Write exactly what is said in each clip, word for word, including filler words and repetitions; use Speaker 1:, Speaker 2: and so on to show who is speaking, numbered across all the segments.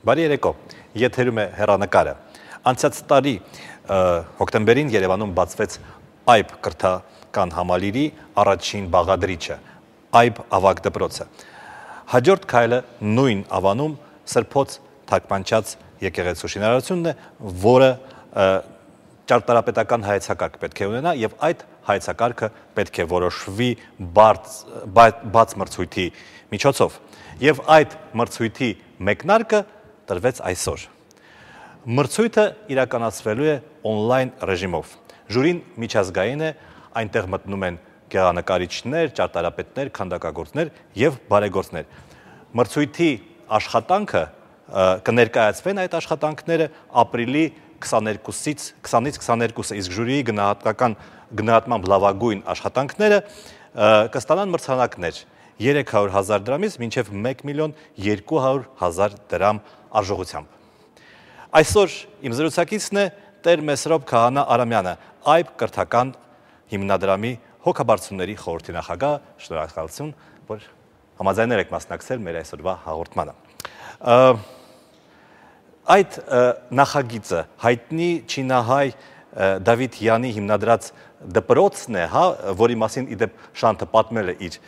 Speaker 1: Բարի երեկո, եթերում է հեռանկարը։ Անցած տարի հոկտեմբերին Երևանում բացվեց այբ կրթական համալիրի առաջին բաղադրիչը, այբ ավագ դպրոցը։ Հաջորդ քայլը նույն ավանում սրբոց թարգմանչած եկեղեցու շինարարությունն է, որը ճարտարապետական հայեցակարգ պետք է ունենա եւ այդ հայեցակարգը պետք է որոշվի բաց մրցույթի միջոցով։ Եվ այդ մրցույթի մեկնարկը տրվեց այսօր։ Մրցույթը իրականացվելու է on-line ռեժիմով։ Ժյուրին միջազգային է, այնտեղ մտնում են գեղանկարիչներ, ճարտարապետներ, քանդակագործներ եւ բարեգործներ։ Մրցույթի աշխատանքը կներկայացվեն այդ աշխատանքները ապրիլի քսաներկուսից քսանից իսկ ժյուրիի գնահատական գնահատմամբ լավագույն աշխատանքները կստանան մրցանակներ երեք հարյուր հազար դրամից մինչև մեկ միլիոն երկու հարյուր հազար դրամ արժողությամբ։ Այսօր իմ զրուցակիցն է Տեր Մեսրոպ Քահանա Արամյանը, այբ կրթական հիմնադրամի հոգաբարձությունների խորհրդի նախագահ, շնորհակալություն, որ համաձայնել եք մասնակցել մեր այսօրվա հաղորդմանը։ Այդ նախագիծը հայտնի չինահայ Դավիթ Յանի հիմնադրած դպրոցն է, որի մասին իդեպ Շանթը պատմել է իր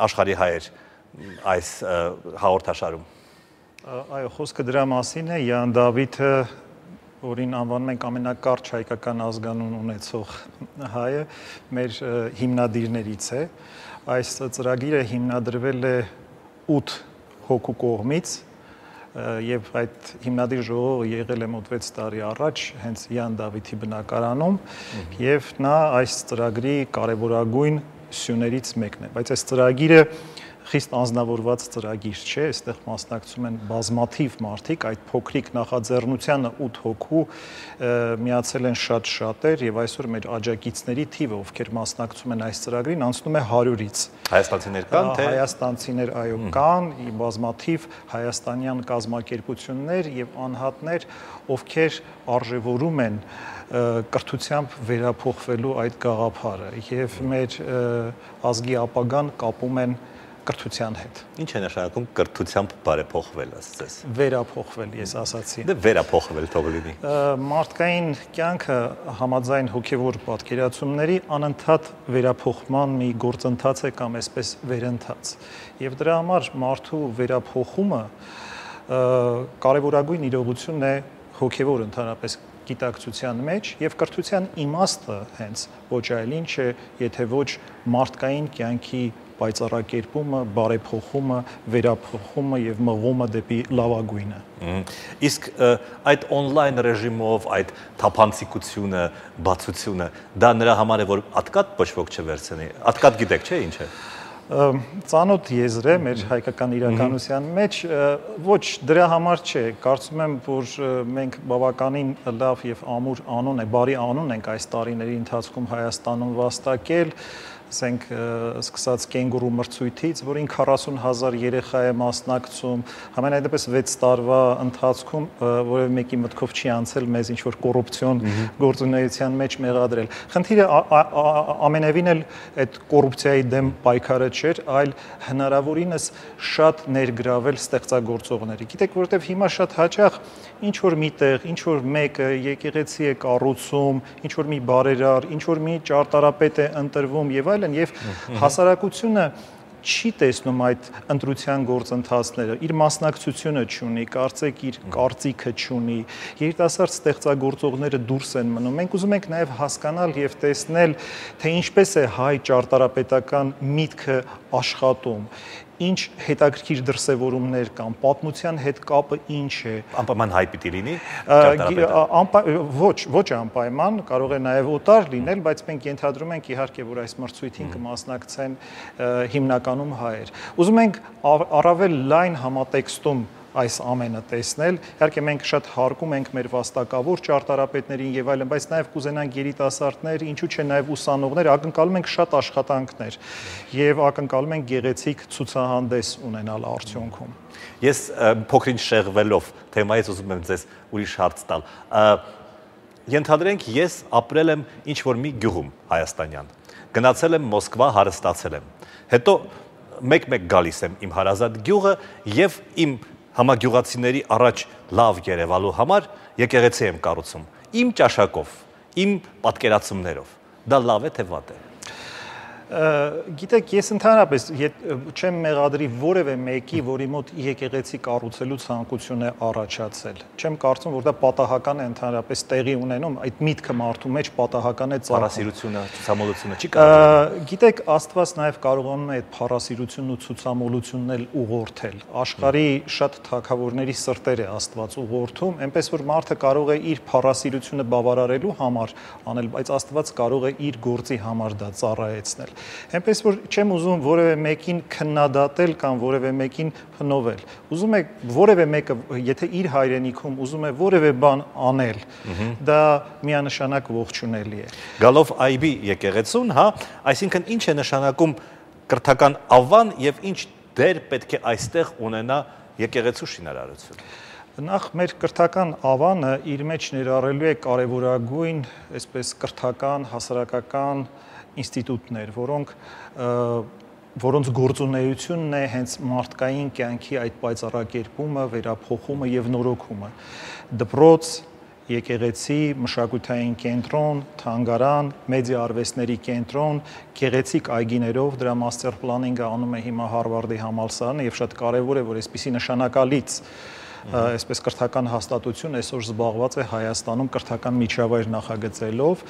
Speaker 1: աշխարհի հայեր այս հաղորդաշարում։
Speaker 2: Այո, խոսքը դրա մասին է, Յան Դավիթը, որին անվանում ենք ամենակարճ հայկական ազգանուն ունեցող հայը, մեր հիմնադիրներից է։ Այս ծրագիրը հիմնադրվել է ութ հոգու կողմից եւ այդ հիմնադիր ժողովը եղել է մոտ վեց տարի առաջ հենց Յան Դավիթի բնակարանում եւ նա այս ծրագրի կարեւորագույն սյուներից մեկն է, բայց այս ծրագիրը խիստ անձնավորված ծրագիր չէ, այստեղ մասնակցում են բազմաթիվ մարդիկ, այդ փոքրիկ նախաձեռնությանը ութ հոգու միացել են շատ շատեր եւ այսօր մեր աջակիցների թիվը, ովքեր մասնակցում են այս ծրագրին, անցնում է հարյուրից։
Speaker 1: Հայաստանցիներ կան, թե
Speaker 2: հայաստանցիներ այո կան, բազմաթիվ հայաստանյան կազմակերպություններ եւ անհատներ, ովքեր արժևորում են կրթությամբ վերափոխվելու այդ գաղափարը եւ մեր ազգի ապագան կապում են կրթության հետ։
Speaker 1: Ինչ է նշանակում կրթությամբ բարեփոխվել, ասես։
Speaker 2: Վերափոխվել, ես ասացի։
Speaker 1: Դե վերափոխվել թող լինի։
Speaker 2: Մարդկային կյանքը համաձայն հոգևոր պատկերացումների անընդհատ վերափոխման մի գործընթաց է կամ այսպես վերընթաց։ Եվ դրա համար մարդու վերափոխումը կարևորագույն իրողությունն է հոգևոր ընդհանրապես գիտակցության մեջ եւ կրթության իմաստը հենց ոչ այլ ինչ է, եթե ոչ մարդկային կյանքի պայծառակերպումը, բարեփոխումը, վերափոխումը եւ մղումը դեպի լավագույնը։
Speaker 1: Իսկ այդ on-line ռեժիմով, այդ թափանցիկությունը, բացությունը, դա նրա համար է, որ ատկատ ոչ ոք չվերցնի։ Ատկատ գիտեք, չէ՞ ինչ է։
Speaker 2: Ծանոթ եզր է մեր հայկական իրականության մեջ, ոչ դրա համար չէ, կարծում եմ, որ մենք բավականին լավ եւ ամուր անուն է, բարի անուն ենք այս տարիների ընթացքում Հայաստանում վաստակել, ասենք սկսած կենգուրու մրցույթից, որին քառասուն հազար երեխա է մասնակցում, համենայնդեպս վեց տարվա ընթացքում որևէ մեկի մտքով չի անցել մեզ ինչ-որ կոռուպցիոն գործունեության մեջ մեղադրել։ Խնդիրը ամենևին էլ այդ կոռուպցիայի դեմ պայքարը չէր, այլ հնարավորինս շատ ներգրավել ստեղծագործողների։ Գիտեք, որովհետև հիմա շատ հաճախ ինչ-որ միտեղ, ինչ-որ մեկը եկեղեցի է կառուցում, ինչ-որ մի բարերար, ինչ-որ մի ճարտարապետ է ընտրվում եւ այլն, եւ հասարակությունը չի տեսնում այդ ընտրության գործընթացները, իր մասնակցությունը չունի, կարծեք իր կարծիքը չունի, երիտասարդ ստեղծագործողները դուրս են մնում։ Մենք ուզում ենք նաև հասկանալ եւ տեսնել, թե ինչպես է հայ ճարտարապետական միտքը աշխատում, ինչ հետաքրքիր դրսևորումներ կան, պատմության հետ կապը ինչ է։
Speaker 1: Անպայման հայ պիտի լինի
Speaker 2: ճարտարապետը։ Ոչ, ոչ անպայման, կարող է նաև օտար լինել, բայց մենք ենթադրում ենք իհարկե, որ այս մրցույթին կմասնակցեն հիմնականում հայեր։ Ուզում ենք առավել լայն համատեքստում այս ամենը տեսնել։ Իհարկե մենք շատ հարգում ենք մեր վաստակավոր ճարտարապետներին եւ այլն, բայց նաեւ կուզենանք երիտասարդներ, ինչու՞ չէ նաեւ ուսանողներ, ակնկալում ենք շատ աշխատանքներ եւ ակնկալում ենք գեղեցիկ ցուցահանդես ունենալ արդյունքում։
Speaker 1: Ես փոքրինչ շեղվելով թեմայից ուզում եմ ձեզ ուրիշ հարց տալ։ Ենթադրենք ես ապրել եմ ինչ-որ մի գյուղում հայաստանյան, գնացել եմ Մոսկվա, հարստացել եմ, հետո մեկ-մեկ գալիս եմ իմ հարազատ գյուղը եւ իմ համագյուղացիների առաջ լավ երևալու համար եկեղեցի եմ կառուցում։ Իմ ճաշակով, իմ պատկերացումներով։ Դա լավ է թե վատ է։
Speaker 2: Գիտեք, ես ընդհանրապես չեմ մեղադրի որևէ մեկի, որի մոտ եկեղեցի կառուցելու ցանկություն է առաջացել։ Չեմ կարծում, որ դա պատահական է ընդհանրապես տեղի ունենում, այդ միտքը մարդու մեջ պատահական է ծագում։
Speaker 1: Փառասիրությունը, ցուցամոլությունը չի կարող։
Speaker 2: Գիտեք, Աստված նաև կարողանում է այդ փառասիրությունն ու ցուցամոլությունն էլ ուղղորդել։ Աշխարհի շատ թագավորների սրտեր է Աստված ուղղորդում, այնպես որ մարդը կարող է իր փառասիրությունը բավարարելու համար անել, բայց Աստված կարող է իր գործի համար դա ծառայեցնել։ Այնպես որ չեմ ուզում որևէ մեկին քննադատել կամ որևէ մեկին փնովել։ Ուզում եք որևէ մեկը, եթե իր հայրենիքում ուզում է որևէ բան անել, դա միանշանակ ողջունելի է։
Speaker 1: Գալով այբի եկեղեցուն, հա, այսինքն ինչ է նշանակում կրթական ավան եւ ինչ դեր պետք է այստեղ ունենա եկեղեցու շինարարությունը։
Speaker 2: Նախ մեր կրթական ավանը իր մեջ ներառելու է կարևորագույն, այսպես կրթական, հասարակական ինստիտուտներ, որոնք որոնց գործունեությունն է հենց մարդկային կյանքի այդ պայծառակերպումը, վերափոխումը եւ նորոգումը։ Դպրոց, եկեղեցի, մշակութային կենտրոն, թանգարան, մեդիա արվեստների կենտրոն, գեղեցիկ այգիներով, դրա master planning-ը անում է հիմա Հարվարդի համալսարանը եւ շատ կարեւոր է, որ այսպիսի նշանակալից այսպես կրթական հաստատություն այսօր զբաղված է Հայաստանում կրթական միջավայր նախագծելով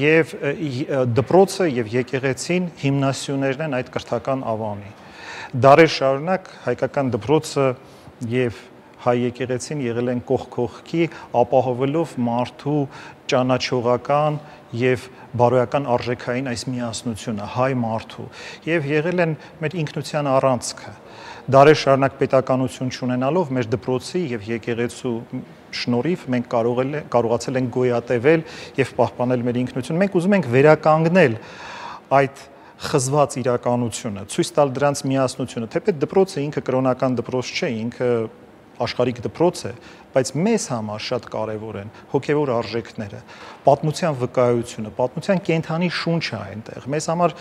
Speaker 2: եւ դպրոցը եւ եկեղեցին հիմնասյուներն են այդ կրթական ավանի։ Դարեր շարունակ հայկական դպրոցը եւ հայ եկեղեցին եղել են կողք կողքի, ապահովելով մարդու ճանաչողական եւ բարոյական արժեքային այս միասնությունը հայ մարդու եւ եղել են մեր ինքնության առանցքը։ Դարեր շարունակ պետականություն չունենալով մեր դպրոցի եւ եկեղեցու շնորհիվ մենք կարողացել ենք գոյատևել եւ պահպանել մեր ինքնությունը։ Մենք ուզում ենք վերականգնել այդ խզված իրականությունը, ցույց տալ դրանց միասնությունը, թեպետ դպրոցը ինքը կրոնական դպրոց չէ, ինքը աշխարհիկ դպրոց է, բայց մեզ համար շատ կարևոր են հոգևոր արժեքները, պատմության վկայությունը, պատմության կենթանի շունչը այնտեղ։ Մեզ համար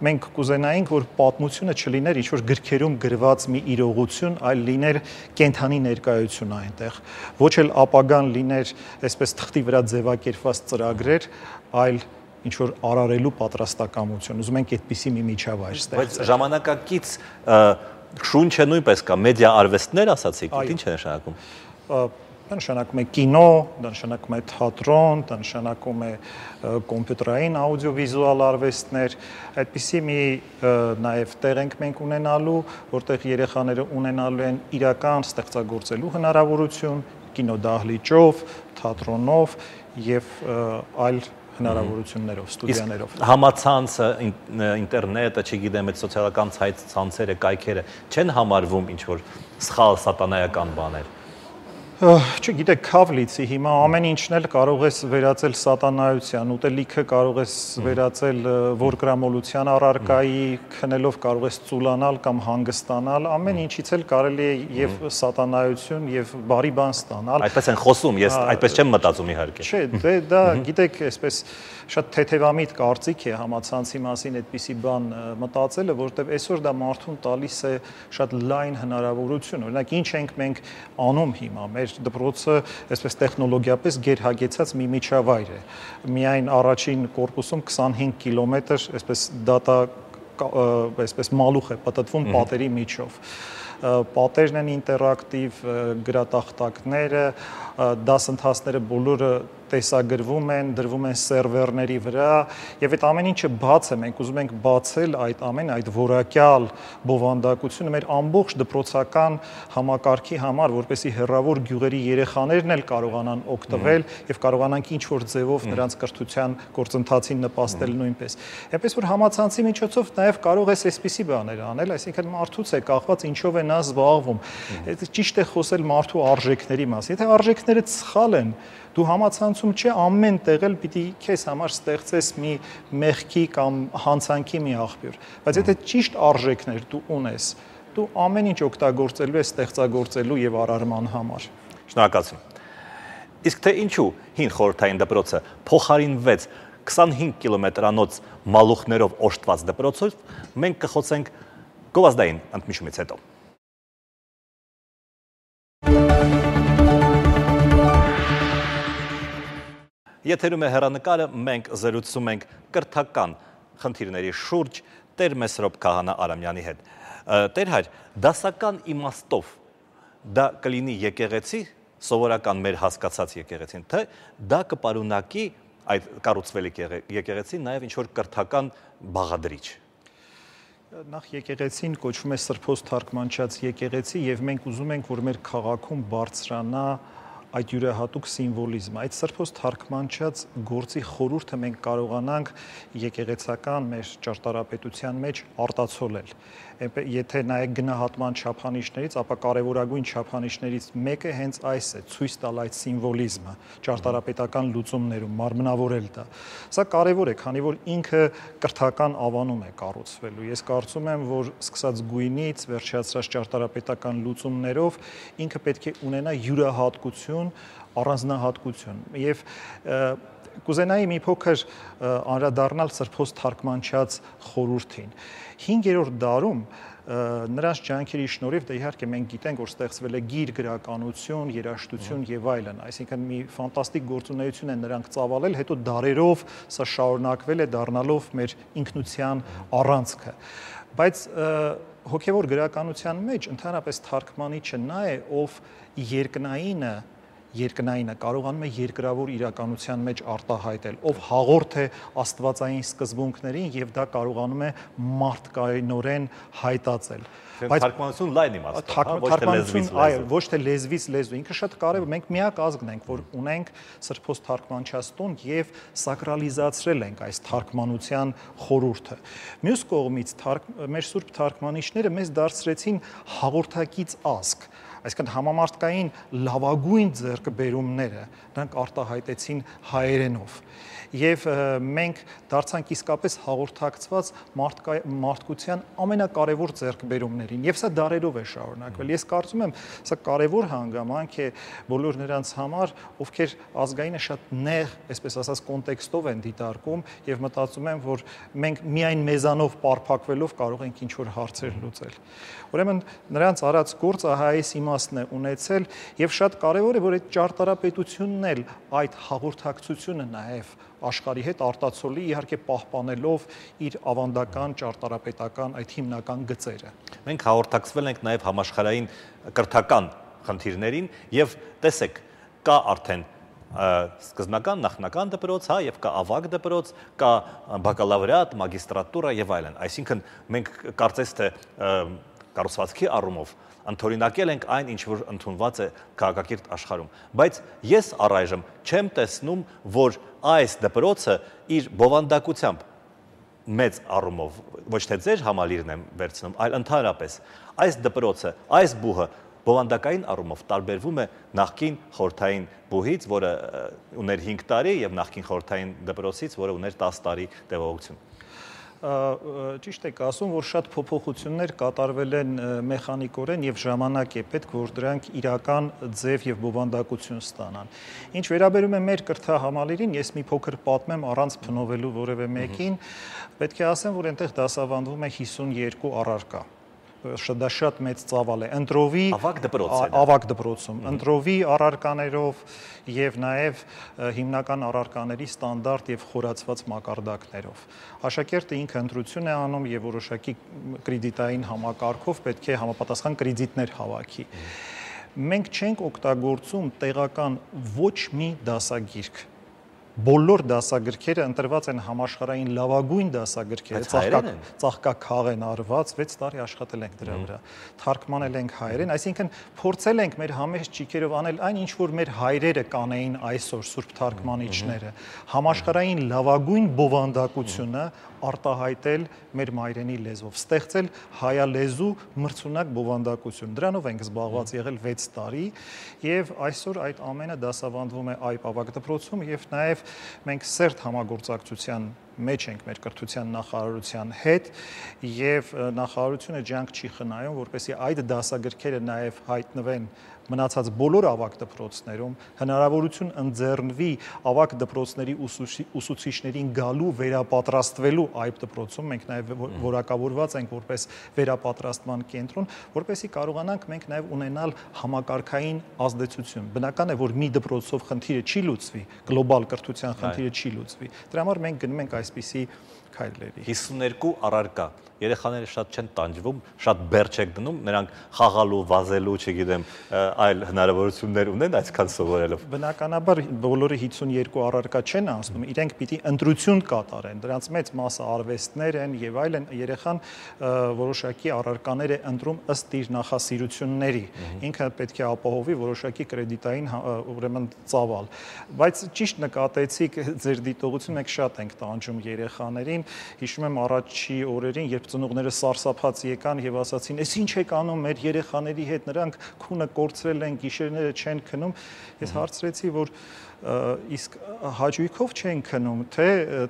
Speaker 2: մենք կուզենայինք, որ պատմությունը չլիներ ինչ-որ գրքերում գրված մի իրողություն, այլ լիներ կենթանի ներկայություն այնտեղ։ Ոչ էլ ապագան լիներ այսպես թղթի վրա ձևակերպված ծրագրեր, այլ ինչ-որ արարելու պատրաստակամություն։ Ուզում ենք այդպիսի մի միջավայր ստեղծել։
Speaker 1: Բայց ժամանակակից շունչը նույնպես կա, մեդիա արվեստներ ասացիք, ինչ է նշանակում։
Speaker 2: Դա նշանակում է կինո, դա նշանակում է թատրոն, դա նշանակում է կոմպյուտերային աուդիովիզուալ արվեստներ, այդպիսի մի նաև տեղ ենք մենք ունենալու, որտեղ երեխաները ունենալու են իրական ստեղծագործելու հնարավորություն, կինոդահլիճով, թատրոնով եւ այլ հնարավորություններով, ստուդիաներով։
Speaker 1: Համացանցը, ինտերնետը, չգիտեմ, այդ սոցիալական ցանցերը, կայքերը չեն համարվում ինչ-որ սխալ սատանայական բաներ։
Speaker 2: Չգիտեք, քավլիցի հիմա ամեն ինչն էլ կարող ես վերածել սատանայության, ուտելիքը կարող ես վերածել որգրամոլության առարկայի, քնելով կարող ես ծուլանալ կամ հանգստանալ, ամեն ինչից էլ կարելի է եւ սատանայություն եւ բարի բան ստանալ։
Speaker 1: Այդպես են խոսում, ես այդպես չեմ մտածում իհարկե։
Speaker 2: Չէ, դե դա գիտեք, այսպես շատ թեթևամիտ կարծիք է համացանցի մասին այդպիսի բան մտածելը, որովհետեւ այսօր դա մարդուն տալիս է շատ լայն հնարավորություն։ Օրինակ, ինչ ենք մենք անում հիմա, մեր դպրոցը այսպես տեխնոլոգիապես գերհագեցած մի միջավայր է։ Միայն առաջին կորպուսում քսանհինգ կիլոմետր այսպես դատա այսպես մալուխ է պատտվում պատերի միջով։ Պատերն են ինտերակտիվ, գրատախտակները, դասընթացները բոլորը տեսագրվում են, դրվում են սերվերների վրա եւ այդ ամեն ինչը բաց է, մենք ուզում ենք բացել այդ ամեն այդ որակյալ բովանդակությունը մեր ամբողջ դպրոցական համակարգի համար, որպեսզի հեռավոր գյուղերի երեխաներն էլ կարողանան օգտվել եւ կարողանանք ինչ որ ձևով նրանց կրթության գործընթացին նպաստել նույնպես։ Այնպես որ համացանցի միջոցով նաեւ կարող ես այսպիսի բաներ անել, այսինքն մարդուց է կախված ինչով է նա զբաղվում։ Ճիշտ է խոսել մարդու արժեքների մասին։ Եթե արժեքները սխալ են, դու համացանցում չէ ամեն տեղ էլ պիտի քեզ համար ստեղծես մի մեղքի կամ հանցանքի մի աղբյուր, բայց եթե ճիշտ արժեքներ դու ունես, դու ամեն ինչ օգտագործելու ես ստեղծագործելու եւ արարման համար։
Speaker 1: Շնորհակալություն։ Իսկ թե ինչու հին խորհրդային դպրոցը փոխարինվեց քսանհինգ կիլոմետրանոց մալուխներով օժտված դպրոցով, մենք կխոսենք գովազդային ընդմիջումից հետո։ Եթերում է հեռանկարը, մենք զրուցում ենք կրթական խնդիրների շուրջ Տեր Մեսրոպ Քահանա Արամյանի հետ։ Տեր հայր, դասական իմաստով դա կլինի եկեղեցի, սովորական մեր հասկացած եկեղեցին, թե դա կպարունակի այդ կառուցվել եկեղեցին նաև ինչ-որ կրթական բաղադրիչ։
Speaker 2: Նախ եկեղեցին կոչվում է Սրբոց թարգմանչած եկեղեցի եւ մենք ուզում ենք, որ մեր քաղաքում բարձրանա այդ յուրահատուկ սիմվոլիզմը, այդ Սրբոց թարգմանչած գործի խորհուրդը մենք կարողանանք եկեղեցական մեր ճարտարապետության մեջ արտացոլել։ Եթե նայեք գնահատման չափանիշներից, ապա կարևորագույն չափանիշներից մեկը հենց այս է՝ ցույց տալ այդ սիմվոլիզմը, ճարտարապետական լուծումներում մարմնավորել դա։ Սա կարևոր է, քանի որ ինքը կրթական ավանում է կառուցվելու։ Ես կարծում եմ, որ սկսած գույնից վերջացրած ճարտարապետական լուծումներով ինքը պետք է ունենա յուրահատկություն, առանձնահատկություն եւ կուզենայի մի փոքր անդրադառնալ Սրբոց թարգմանչած խորհրդին։ հինգերորդ դարում նրանց ջանքերի շնորհիվ դե իհարկե մենք գիտենք, որ ստեղծվել է գիր գրականություն, երաժշտություն եւ այլն, այսինքն մի ֆանտաստիկ գործունեություն են նրանք ծավալել, հետո դարերով սա շարունակվել է դառնալով մեր ինքնության առանցքը։ Բայց հոգեվոր գրականության մեջ ընդհանրապես թարգմանիչը նա է, ով երկնայինը երկնայինը կարողանում է երկրավոր իրականության մեջ արտահայտել, ով հաղորդ է աստվածային սկզբունքներին եւ դա կարողանում է մարդկայնորեն հայտածել։
Speaker 1: Բայց թարգմանություն լայն իմաստով, ոչ թե լեզվից լեզու։
Speaker 2: Այո, ոչ թե լեզվից լեզու։ Ինքը շատ կարևոր, մենք միակ ազգն ենք, որ ունենք Սրբոց թարգմանչած տուն եւ սակրալիզացրել ենք այս թարգմանության խորհուրդը։ Մյուս կողմից մեր սուրբ թարգմանիչները մեզ դարձրեցին հաղորդակից ազգ։ Այսինքն համամարտկային լավագույն ձեռքբերումները նրանք արտահայտեցին հայերենով եւ մենք դարձանք իսկապես հաղորդակցված մարդկության ամենակարևոր ձեռքբերումներին եւ սա դարերով է շարունակվել։ Ես կարծում եմ, սա կարևոր հանգամանք է բոլոր նրանց համար, ովքեր ազգայինը շատ նեղ, այսպես ասած, կոնտեքստով են դիտարկում եւ մտածում են, որ մենք միայն մեզանով պարփակվելով կարող ենք ինչ-որ հարցեր լուծել։ Ուրեմն նրանց արած գործը այս իմաստն է ունեցել եւ շատ կարեւոր է, որ այդ ճարտարապետությունն էլ այդ հաղորդակցությունը նաեւ աշխարհի հետ արտացոլի, իհարկե պահպանելով իր ավանդական ճարտարապետական այդ հիմնական գծերը։
Speaker 1: Մենք հաղորդակցվել ենք նաեւ համաշխարհային կրթական խնդիրներին եւ տեսեք, կա արդեն սկզբնական նախնական դպրոց, հա, եւ կա ավագ դպրոց, կա բակալավրիատ, մագիստրատուրա եւ այլն։ Այսինքն մենք կարծես թե կառուցվածքի առումով ընդօրինակել ենք այն, ինչ որ ընդունված է քաղաքակիրթ աշխարհում, բայց ես առայժմ չեմ տեսնում, որ այս դպրոցը իր բովանդակությամբ մեծ առումով, ոչ թե ձեր համալիրն եմ վերցնում, այլ ընդհանրապես այս դպրոցը, այս բուհը բովանդակային առումով տարբերվում է նախկին խորհրդային բուհից, որը ուներ հինգ տարի, եւ նախկին խորհրդային դպրոցից, որը ուներ տասը տարի տևողություն։
Speaker 2: Ճիշտ եք ասում, որ շատ փոփոխություններ կատարվել են մեխանիկորեն եւ ժամանակ է պետք, որ դրանք իրական ձև եւ բովանդակություն ստանան։ Ինչ վերաբերում է մեր կրթահամալիրին, ես մի փոքր պատմեմ առանց փնովելու որևէ մեկին, պետք է ասեմ, որ այնտեղ դասավանդվում է հիսունյոթ առարկա։ Դա շատ մեծ ծավալ է։ Ընտրովի
Speaker 1: ավագ դպրոցը,
Speaker 2: ավագ դպրոցում, ընտրովի առարկաներով եւ նաեւ հիմնական առարկաների ստանդարտ եւ խորացված մակարդակներով։ Աշակերտը ինքը ընտրություն է անում եւ որոշակի կրեդիտային համակարգով պետք է համապատասխան կրեդիտներ հավաքի։ Մենք չենք օգտագործում տեղական ոչ մի դասագիրք։ Բոլոր դասագրքերը ընտրված են համաշխարհային լավագույն դասագրքերը, ծաղկաքաղ են արված, վեց տարի աշխատել ենք դրա վրա, թարգմանել ենք հայերեն, այսինքն փորձել ենք մեր համեստ ճիգերով անել այն, ինչ որ մեր հայրերը կանեին այսօր սուրբ թարգմանիչները, համաշխարհային լավագույն բովանդակությունը արտահայտել մեր մայրենի լեզվով, ստեղծել հայալեզու մրցունակ բովանդակություն։ Դրանով ենք զբաղված եղել վեց տարի եւ այսօր այդ ամենը դասավանդվում է այբ ավագ դպրոցում եւ նաեւ մենք սերտ համագործակցության մեջ ենք մեր կրթության նախարարության հետ եւ նախարարությունը ջանք չի խնայում, որպեսզի այդ դասագրքերը նաեւ հայտնվեն մնացած բոլոր ավագ դպրոցներում հնարավորություն ընձեռնվի ավագ դպրոցների ուսուցիչներին գալու վերապատրաստվելու այբ դպրոցում, մենք նաև որակավորված ենք որպես վերապատրաստման կենտրոն, որպեսզի կարողանանք մենք նաև ունենալ համակարգային ազդեցություն։ Բնական է, որ մի դպրոցով խնդիրը չի լուծվի, գլոբալ կրթության խնդիրը չի լուծվի։ Դրա համար մենք գնում ենք այսպիսի քայլերի։
Speaker 1: հիսուն երկու առարկա երեխաները շատ չեն տանջվում, շատ բեր չեք դնում, նրանք խաղալու, վազելու, չգիտեմ, այլ հնարավորություններ ունեն այսքան սովորելով։
Speaker 2: Բնականաբար բոլորը հիսուն երկու առարկա չեն անցնում, իրենք պիտի ընտրություն կատարեն, դրանց մեծ մասը արվեստներ են եւ այլն, երեխան որոշակի առարկաներ է ընտրում ըստ իր նախասիրությունների, ինքը պետք է ապահովի որոշակի կրեդիտային ուրեմն ծավալ, բայց ճիշտ նկատեցիք ձեր դիտողությունը, մենք շատ ենք տանջում երեխաներին, հիշում եմ առաջի օրերին, երբ ծնողները սարսափած եկան եւ ասացին, «Էս ինչ եք անում մեր երեխաների հետ, նրանք քունը կորցրել են, գիշերները չեն քնում»։ Ես հարցրեցի, որ իսկ հաճույքով չեն քնում, թե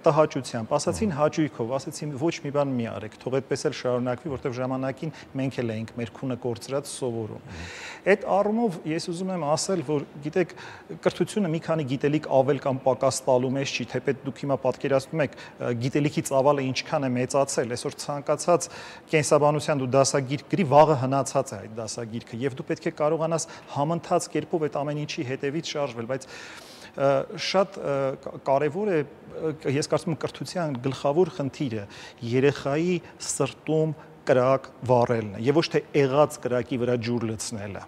Speaker 2: տհաճությամբ, ասացին հաճույքով, ասացին ոչ մի բան մի արեք, թող այդպես էլ շարունակվի, որտեղ ժամանակին մենք էլ էինք մեր քունը կորցրած սովորում։ Այդ առումով ես ուզում եմ ասել, որ գիտեք, կրթությունը մի քանի գիտելիք ավել կամ պակաս տալու մեջ չի, թեպետ դուք հիմա պատկերացնում եք գիտելիքի ծավալը ինչքան է մեծացել, այսօր ցանկացած կենսաբանության դու դասագիրք գրի, վաղը հնացած է այդ դասագիրքը եւ դու պետք է կարողանաս համընթաց կերպով այդ ամեն ինչի հետևից շարժվել, բայց շատ կարևոր է, ես կարծում եմ կրթության գլխավոր խնդիրը երեխայի սրտում կրակ վառելն է եւ ոչ թե եղած կրակի վրա ջուր լցնելը։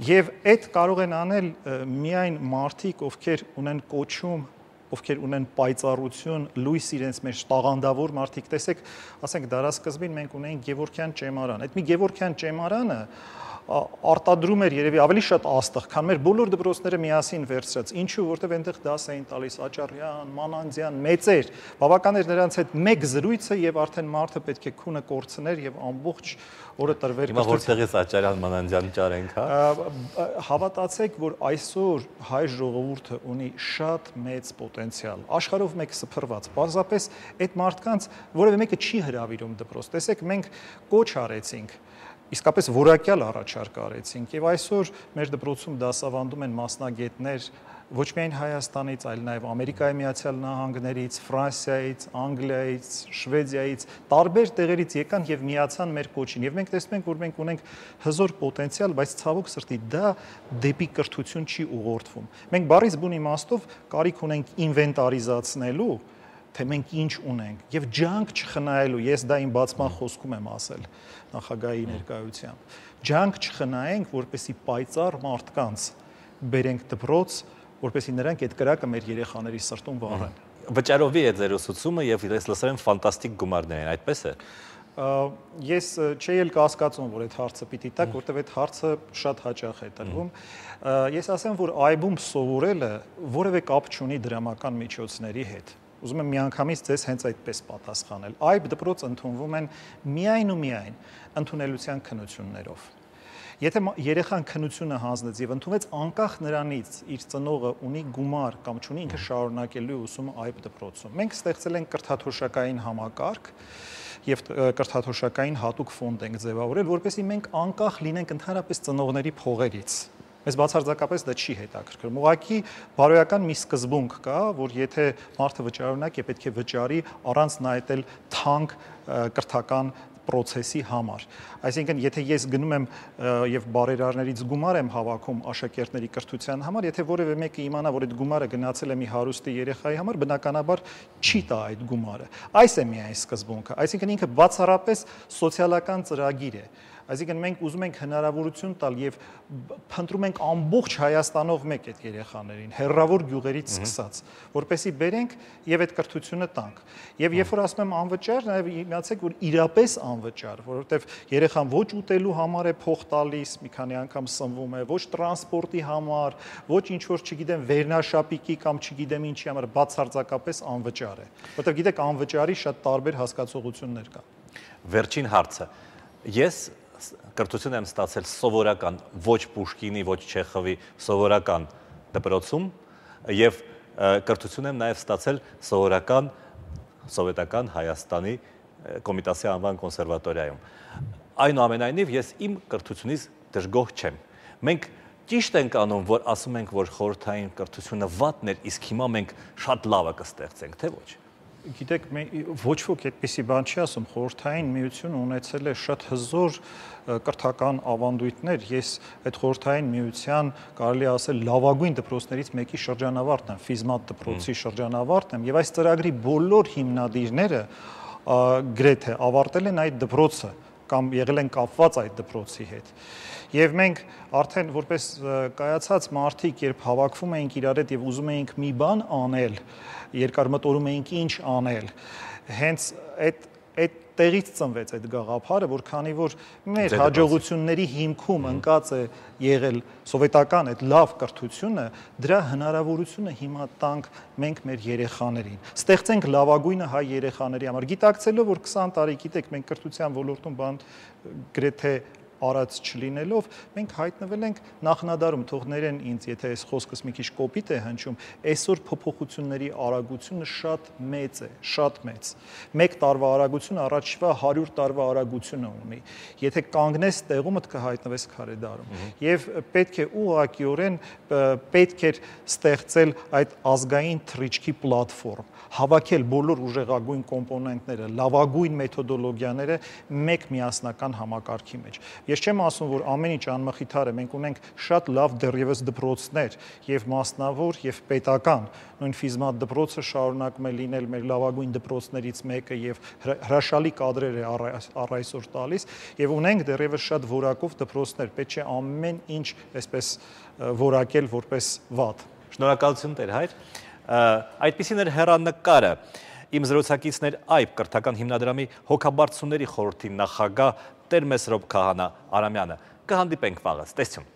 Speaker 2: Եվ այդ կարող են անել միայն մարդիկ, ովքեր ունեն կոչում, ովքեր ունեն պայծառություն, լույս իրենց մեջ, տաղանդավոր մարդիկ, տեսեք, ասենք դարասկզբին մենք ունեինք Գևորգյան ճեմարան։ Այդ մի Գևորգյան ճեմարանը արտադրում էր երևի ավելի շատ աստղ, քան մեր բոլոր դպրոցները միասին վերցրած։ Ինչու, որտեղ այնտեղ դաս էին տալիս Աճարյան, Մանանդյան, մեծեր, բավական էր նրանց հետ մեկ զրույցը եւ արդեն մարդը պետք է քունը կորցներ եւ ամբողջ օրը տրվեր։
Speaker 1: Հիմա որտեղից Աճարյան, Մանանդյան ճարենք, հա։
Speaker 2: Հավատացեք, որ այսօր հայ ժողովուրդը ունի շատ մեծ պոտենցիալ, աշխարհով մեկ սփռված։ Պարզապես այդ մարդկանց որևէ մեկը չի հրավիրում դպրոց։ Տեսեք, մենք կոչ արեցինք, իսկապես որակյալ առաջարկ արեցինք եւ այսօր մեր դպրոցում դասավանդում են մասնագետներ ոչ միայն Հայաստանից, այլ նաև Ամերիկայի Միացյալ Նահանգներից, Ֆրանսիայից, Անգլիայից, Շվեդիայից, տարբեր տեղերից եկան եւ միացան մեր կոչին։ Եվ մենք տեսնում ենք, որ մենք ունենք հզոր պոտենցիալ, բայց ցավոք սրտի դա դեպի կրթություն չի ուղղորդվում։ Մենք բառից բուն իմաստով կարիք ունենք ինվենտարիզացնելու, թե մենք ինչ ունենք եւ ջանք չխնայելու, ես դա իմ բացման խոսքում եմ ասել նախագահի ներկայությամբ, ջանք չխնայենք, որպեսի պայծառ մարդկանց բերենք դպրոց, որպեսի նրանք այդ կրակը մեր երեխաների սրտում վառեն։
Speaker 1: Վճարովի է ձեր ուսուցումը եւ ես լսել եմ ֆանտաստիկ գումարներ են, այդպես է։
Speaker 2: Ես չէի էլ կասկածում, որ այդ հարցը պիտի տակ, որտեղ այդ հարցը շատ հաճախ է տրվում։ Ես ասեմ, որ այբում սովորելը որևէ կապ չունի դրամական միջոցների հետ։ Ուզում եմ միանգամից ձեզ հենց այդպես պատասխանել։ Այբ դպրոց ընդունվում են միայն ու միայն ընդունելության քննություններով։ Եթե երեխան քննությունը հանձնեց եւ ընդունվեց անկախ նրանից իր ծնողը ունի գումար կամ չունի, ինքը շարունակելու ուսումը այբ դպրոցում։ Մենք ստեղծել ենք կրթաթոշակային համակարգ եւ կրթաթոշակային հատուկ ֆոնդ ենք ձևավորել, որպեսզի մենք անկախ լինենք ընդհանրապես ծնողների փողերից։ Մեզ բացարձակապես դա չի հետաքրքրում։ Ուղղակի բարոյական մի սկզբունք կա, որ եթե մարդը վճարունակ է, պետք է վճարի առանց նայել թանկ կրթական process-ի համար։ Այսինքն, եթե ես գնում եմ եւ բարերարներից գումար եմ հավաքում աշակերտների կրթության համար, եթե որևէ մեկը իմանա, որ այդ գումարը գնացել է մի հարուստի երեխայի համար, բնականաբար չի տա այդ գումարը։ Այս է միայն սկզբունքը։ Այսինքն ինքը բացառապես սոցիալական ծրագիր է։ Այսինքն մենք ուզում ենք հնարավորություն տալ եւ փնտրում ենք ամբողջ Հայաստանով մեկ այդ երեխաներին, հեռավոր գյուղերից սկսած, որպեսզի բերենք եւ այդ կրթությունը տանք։ Եվ երբ որ ասում եմ անվճար, նաեւ իմացեք, որ իրապես անվճար, որովհետեւ երեխան ոչ ուտելու համար է փող տալիս, մի քանի անգամ սնվում է, ոչ տրանսպորտի համար, ոչ ինչ որ չգիտեմ վերնաշապիկի կամ չգիտեմ ինչի համար, բացարձակապես անվճար է։ Որովհետեւ գիտեք, անվճարի շատ տարբեր հասկացողություններ կան։
Speaker 1: Վերջին հարցը։ Ես կրթություն եմ ստացել սովորական, ոչ Պուշկինի, ոչ Չեխովի, սովորական դպրոցում եւ կրթություն եմ նաեւ ստացել սովորական սովետական Հայաստանի Կոմիտասի անվան կոնսերվատորիայում։ Այնուամենայնիվ ես իմ կրթությունից դժգոհ չեմ, Մենք ճիշտ ենք անում, որ ասում ենք, որ խորհրդային կրթությունը վատն էր, իսկ հիմա մենք շատ լավը կստեղծենք, թե ոչ։
Speaker 2: Գիտեք, ոչ ոք այդպիսի բան չի ասում, խորհրդային միությունը ունեցել է շատ հզոր կրթական ավանդույթներ, ես այդ խորհրդային միության կարելի ասել լավագույն դպրոցներից մեկի շրջանավարտն եմ, ֆիզմատ դպրոցի շրջանավարտն եմ, եւ այս ծրագրի բոլոր հիմնադիրները գրեթե ավարտել են այդ դպրոցը կամ եղել են կապված այդ դպրոցի հետ։ Եվ մենք արդեն որպես կայացած մարդիկ, երբ հավաքվում էինք իրար հետ եւ ուզում էինք մի բան անել, երկար մտորում էինք ինչ անել, հենց այդ այդ տեղից ծնվեց այդ գաղափարը, որ քանի որ մեր հաջողությունների հիմքում ընկած է եղել սովետական այդ լավ կրթությունը, դրա հնարավորությունը հիմա տանք մենք մեր երեխաներին։ Ստեղծենք լավագույնը հայ երեխաների համար, գիտակցելով, որ քսան տարի, գիտեք, մենք կրթության ոլորտում բան գրեթե արած չլինելով, մենք հայտնվել ենք նախնադարում, թող ներեն ինձ, եթե այս խոսքս մի քիչ կոպիտ է հնչում, այսօր փոփոխությունների արագությունը շատ մեծ է, շատ մեծ։ Մեկ տարվա արագությունը առաջվա հարյուր տարվա արագությունը ունի։ Եթե կանգնես տեղումդ կհայտնվես քարե դարում։ Եվ պետք է ուղղակիորեն պետք էր ստեղծել այդ ազգային թռիչքի պլատֆորմ, հավաքել բոլոր ուժեղագույն կոմպոնենտները, լավագույն մեթոդոլոգիաները մեկ միասնական համակարգի մեջ։ Ես չեմ ասում, որ ամեն ինչ անմխիթար է, մենք ունենք շատ լավ դեռևս դպրոցներ, եւ մասնավոր, եւ պետական, նույն ֆիզմատ դպրոցը շարունակում է լինել մեր լավագույն դպրոցներից մեկը եւ հրաշալի կադրեր է առ այսօր տալիս, եւ ունենք դեռևս շատ որակով դպրոցներ, պետք չէ ամեն ինչ այսպես որակել որպես վատ։
Speaker 1: Շնորհակալություն Տեր Հայր։ Այդպիսին էր հեռանկարը իմ զրուցակիցներ այբ կրթական հիմնադրամի հոգաբարձությունների խորհրդի նախագահ Տեր Մեսրոպ Քահանա Արամյանը։ Կհանդիպենք վաղը, տեսություն։